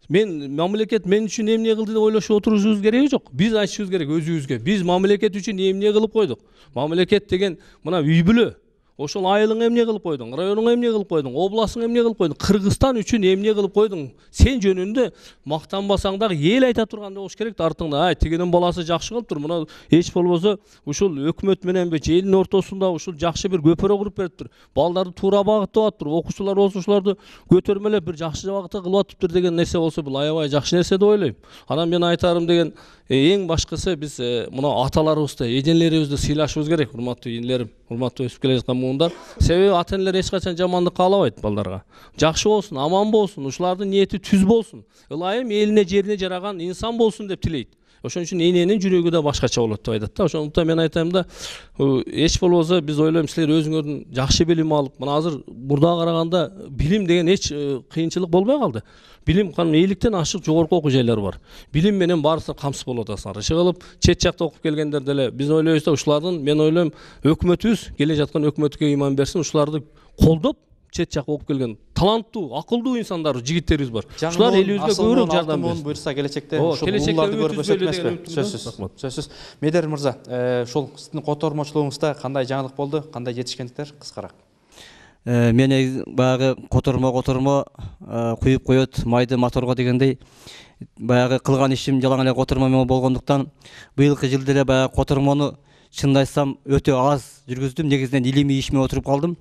[SPEAKER 13] Мен мамлекет мен үчүн эмне кылды деп ойлошуп отурушубуз кереги жок. Биз айтышыбыз керек өзүбүзгө. Биз мамлекет үчүн эмне кылып койдук? Мамлекет деген мына үй бүлө. Ошол айылың эмне кылып койдуң, районуң эмне кылып койдуң, обласың эмне кылып койдуң, Кыргызстан үчүн эмне кылып койдуң? Сен жөнүндө мактанбасаң дагы эл айта тургандай болуш керек да, артыңда. Ай, тигинин баласы жакшы кылыптыр. Мына эч болбосо ушул өкмөт мененби, элдин ортосунда ушул жакшы бир көпөрө куруп бериптир. Балдарды туура багыттап атыптыр. Окуучулар болсо ушуларды көтөрмөлөп бир жакшы багытта кылып атыптыр деген нерсе болсо, бул аябай жакшы нерсе деп ойлойм. Анан мен айтарым деген эң башкысы биз мына аталарыбызды, эжелерибизди сыйлашыбыз керек, урматтуу инилерим, урматтуу өсүп келе жаткан муундар. Себеби ата энелер эч качан жамандык каалабайт балдарга. Жакшы болсун, аман болсун, ушулардын ниети түз болсун. Ылайым элине, жерине жараган инсан болсун деп тилейт. Ошон үчүн эненин жүрөгү да башкача болот деп айтат да. Ошондуктан мен айтайм да, эч болбосо биз ойлойм силер өзүңөрдүн жакшы билим алып, мына азыр мурдага караганда билим деген эч кыйынчылык болбой калды. Билим кан эйликтен ашык жогорку окуу жайлар бар. Билим менен баарысы камсыз болуп атасыңар. Иши кылып чет жакта окуп келгендер деле биз ойлойбуз да, ушулардын мен ойлойм өкмөтүбүз, келе жаткан өкмөткө ыйман берсин, ушуларды колдоп чет жакка окуп келген таланттуу, акылдуу инсандар, жигиттерибиз бар. Ушулар элибизге көбүрөөк жардам берсин.
[SPEAKER 1] Буйрса келечекте ушул ууларды көрүп өсөт эмеспи? Сөзсүз. Сөзсүз. Медер мырза, ошол сиздин котормочулугуңузда кандай жаңылык болду, кандай жетишкендиктер кыскараак?
[SPEAKER 14] мени баягы котормо котормо куюп коет майды моторго дегендей баягы кылган ишим жалаң эле котормо менен болгондуктан быйылкы жылда эле баягы котормону чынын айтсам өтө аз жүргүздүм. Негизинен илимий иш менен отуруп калдым.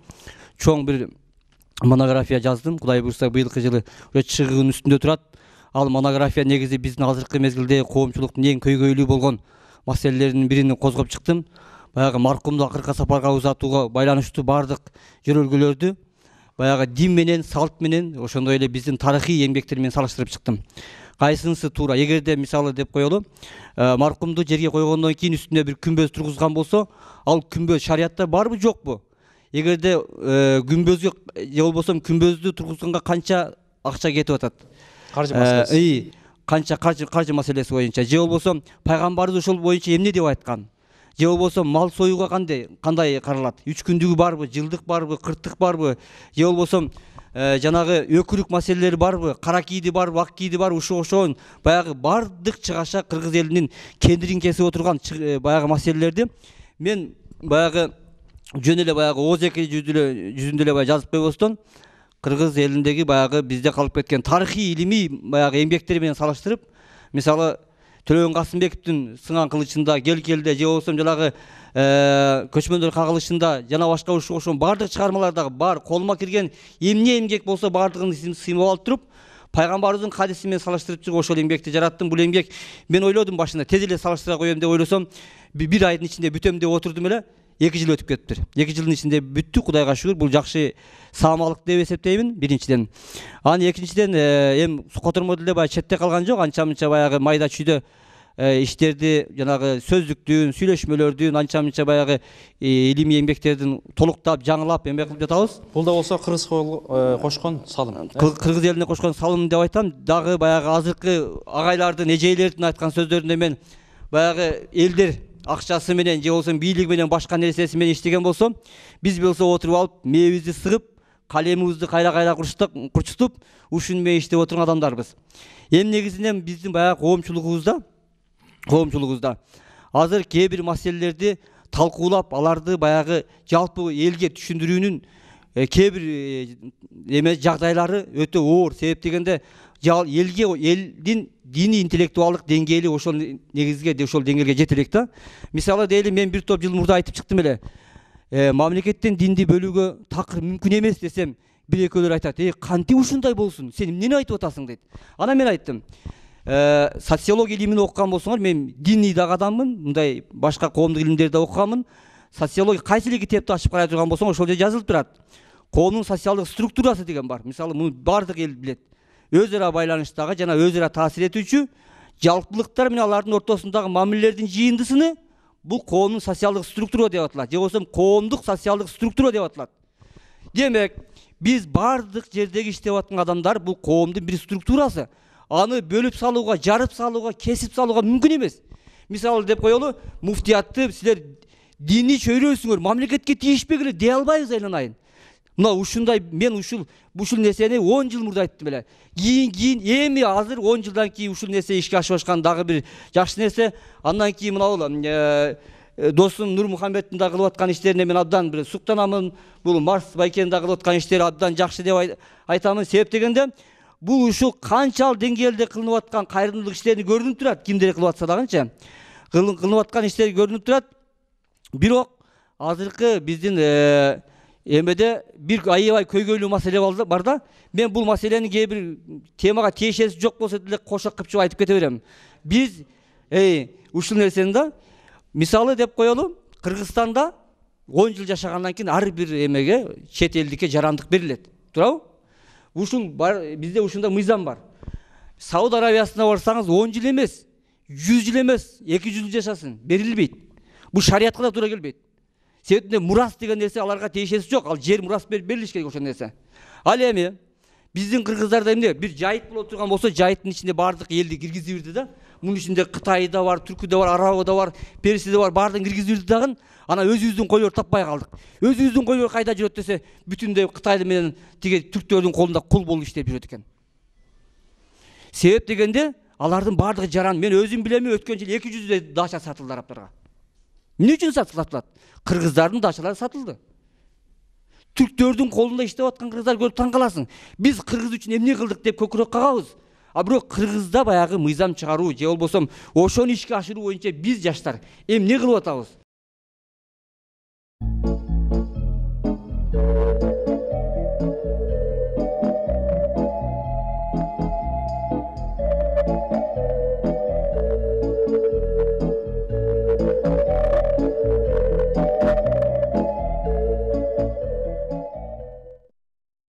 [SPEAKER 14] Чоң бир монография жаздым. Кудай буйрса быйылкы жылы чыгуунун үстүндө турат. Ал монография негизи биздин азыркы мезгилде коомчулуктун эң көйгөйлүү болгон маселелеринин бирин козгоп чыктым. Баягы маркумду акыркы сапарга узатууга байланыштуу баардык жөрөлгөлөрдү баягы дин менен, салт менен, ошондой эле биздин тарыхый эмгектер менен салыштырып чыктым. Кайсынысы туура? Эгерде мисалы деп коелу, маркумду жерге койгондон кийин үстүнө бир күмбөз тургузган болсо, ал күмбөз шариятта барбы, жокпу? Эгерде күмбөзгө же болбосо күмбөздү тургузганга канча акча кетип атат?
[SPEAKER 1] Каржы маселеси.
[SPEAKER 14] Канча каржы каржы маселеси боюнча, же болбосо пайгамбарыбыз ошол боюнча эмне деп айткан? Же болбосо мал союуга кандай кандай каралат? үч күндүгү барбы, жылдык барбы, кырктык барбы? Же болбосо жанагы өкүрүк маселелери барбы, кара кийди барбы, ак кийди барбы? Ушул ошон баягы бардык чыгаша кыргыз элинин кендирин кесип отурган баягы маселелерди мен баягы жөн эле баягы ооз эки жүзүндө эле жазып койбостон кыргыз элиндеги баягы бизде калып кеткен тарыхый илимий баягы эмгектери менен салыштырып, мисалы Төлөгөн Касымбековдун сыңан кылычында, кел келде, же болбосо жанагы көчмөндөр кагылышында жана башка ушул ошон бардык чыгармалардагы бар колума кирген эмне эмгек болсо бардыгын сыймап алып туруп, пайгамбарыбыздын хадиси менен салыштырып чыгып ошол эмгекти жараттым. Бул эмгек мен ойлодум башында тез эле салыштыра коем деп ойлосом, бир айдын ичинде бүтөм деп отурдум эле. эки жыл өтүп кетиптир. эки жылдын ичинде бүттү, Кудайга шүгүр. Бул жакшы саамалык деп эсептеймин, биринчиден. Анан экинчиден эми котормо деле баягы четте калган жок, анча-мынча баягы майда чүйдө иштерди, жанагы сөздүктүн, сүйлөшмөлөрдүн, анча-мынча баягы илимий эмгектердин толуктап, жаңылап эме кылып жатабыз.
[SPEAKER 1] Бул да болсо кыргыз кошкон салым.
[SPEAKER 14] Кыргыз элине кошкон салым деп айтам. Дагы баягы азыркы агайлардын, эжейлердин айткан сөздөрүндө мен баягы элдер акчасы менен же болбосо бийлиги менен башка нерсеси менен иштеген болсо, биз болсо отуруп алып, мээбизди сыгып, калемибизди кайра-кайра курчутуп, ушун менен иштеп отурган адамдарбыз. Эми негизинен биздин баягы коомчулугубузда, коомчулугубузда азыр кээ бир маселелерди талкуулап, аларды баягы жалпы элге түшүндүрүүнүн кээ бир эме жагдайлары өтө оор. Себеп дегенде элге, элдин диний интеллектуалдык деңгээли ошол негизге, ошол деңгээлге жете элек да. Мисалы дейли, мен бир топ жыл мурда айтып чыктым эле. Мамлекеттен динди бөлүүгө такыр мүмкүн эмес десем, бир экөөлөр айтат: "Эй, кантип ушундай болсун? Сен эмнени айтып атасың?" дейт. Анан мен айттым: "Социология илимин окуган болсоңор, мен диний дагы адаммын, мындай башка коомдук илимдерди окуганмын. Социология кайсы эле китепти ачып карай турган болсоң, ошол жерде жазылып турат. Коомдун социалдык структурасы деген бар. Мисалы, муну бардык эл билет. Өз ара байланыштагы жана өз ара таасир этүүчү жалпылыктар менен алардын ортосундагы мамилелердин жыйындысыны бул коомдун социалдык структура деп аталат, же болбосо коомдук социалдык структура деп аталат. Демек, биз бардык жердеги иштеп аткан адамдар бул коомдун бир структурасы. Аны бөлүп салууга, жарып салууга, кесип салууга мүмкүн эмес. Мисалы деп коелу, муфтиятты силер диний чөйрөсүңөр, мамлекетке тийишпегиле дей албайбыз айланайын. Мына ушундай, мен ушул ушул нерсени он жыл мурда айттым эле. Кийин кийин эми азыр он жылдан кийин ушул нерсе ишке ашып ашкан дагы бир жакшы нерсе. Андан кийин мына досум Нурмухаммедтин да кылып аткан иштерине мен абдан бир суктанамын. Бул Марс Байкенин да кылып аткан иштери абдан жакшы деп айтамын. Себеп дегенде, бул ушул канчал деңгээлде кылынып аткан кайрымдуулук иштерин көрүнүп турат. Кимдер кылып атса дагычы кылынып аткан иштер көрүнүп турат. Бирок азыркы биздин эмеде бир аябай көйгөйлүү маселе бар да. Мен бул маселени кээ бир темага тиешеси жок болсо деле кошок кылып айтып кете берем. Биз эй ушул нерсени да, мисалы деп коелу, Кыргызстанда он жыл жашагандан кийин ар бир эмеге, чет элдикке жарандык берилет. Туурабы? Ушул бар, бизде ушундай мыйзам бар. Сауд Арабиясына барсаңыз он жыл эмес, жүз жыл эмес, эки жүз жыл жашасын, берилбейт. Бул шариятка да туура келбейт. Себебинде мурас деген нерсе аларга тиешеси жок. Ал жер мурас берилиш керек ошол нерсе. Ал эми биздин кыргыздарда эмне? Бир жайыт болуп турган болсо, жайыттын ичинде бардык элди киргизип бирди да. Мунун ичинде Кытай да бар, Түркү да бар, Арабы да бар, Перси да бар, бардыгын киргизип бирди дагы. Анан өзүбүздүн койлор таппай калдык. Өзүбүздүн койлор кайда жүрөт десе, бүтүндөй Кытай менен тиге түрктөрдүн колунда кул болуп иштеп жүрөт экен. Себеп дегенде, алардын бардыгы жаран. Мен өзүм билем, өткөн жыл эки жүздөй дача сатылды арабтарга. Эмне үчүн сатылат? Кыргыздардын дачалары сатылды. түрктөрдүн колунда иштеп аткан кыргыздар көрүп таң каласың. Биз кыргыз үчүн эмне кылдык деп көкүрөк кагабыз. А бирок кыргызда баягы мыйзам чыгаруу же болбосо ошону ишке ашыруу боюнча биз жаштар эмне кылып атабыз?